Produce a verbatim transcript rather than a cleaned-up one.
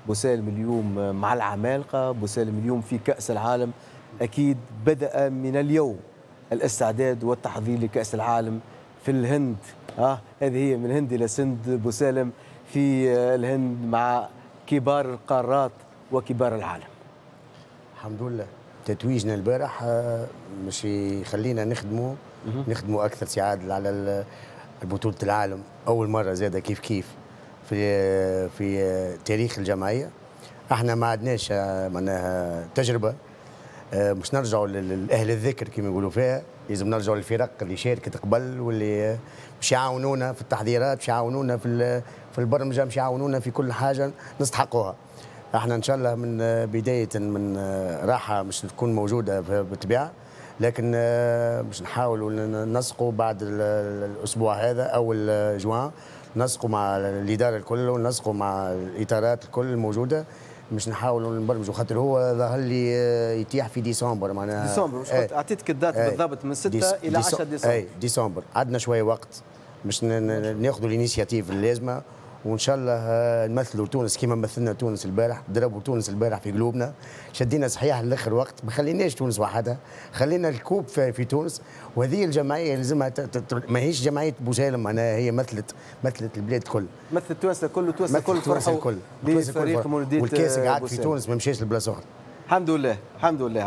بوسالم اليوم مع العمالقة، بوسالم اليوم في كأس العالم. أكيد بدأ من اليوم الاستعداد والتحضير لكأس العالم في الهند. آه هذه هي من الهند إلى سند، بوسالم في الهند مع كبار القارات وكبار العالم. الحمد لله تتويجنا البارح مش يخلينا نخدموا نخدموا اكثر سي عادل على بطولة العالم. اول مرة زاده كيف كيف في في تاريخ الجمعية احنا ما عندناش معناها تجربه، مش نرجعوا للاهل الذكر كما يقولوا فيها، لازم نرجعوا للفرق اللي شاركت قبل واللي مش يعاونونا في التحضيرات، مش يعاونونا في في البرمجة، مش يعاونونا في كل حاجة نستحقوها. احنا ان شاء الله من بداية من راحة مش تكون موجودة بالطبيعة، لكن باش نحاولوا ننسقوا بعد الاسبوع هذا اول جوان، نسقوا مع الادارة الكل ونسقوا مع الاطارات الكل الموجودة باش نحاولوا نبرمجوا، خاطر هو ظهر لي يتيح في ديسمبر معناها ديسمبر. مش قلت اعطيتك ال date بالضبط من ستة الى عشرة ديسمبر. اي ديسمبر عندنا شوية وقت باش ناخذوا l'initiative اللازمة، وان شاء الله نمثلوا تونس كما مثلنا تونس البارح. ضربوا تونس البارح في قلوبنا، شدينا صحيح لاخر وقت، ما خليناش تونس وحدها، خلينا ال coupe في, في تونس. وهذه الجمعية لازمها ماهيش جمعية بوسالم، معناها هي مثلت مثلت البلاد الكل، مثلت تونس الكل، وتونس الكل فرحوا الكل لفريق مولوديه والكاس قعد في تونس ما مشاش لبلاصه اخرى. الحمد لله الحمد لله.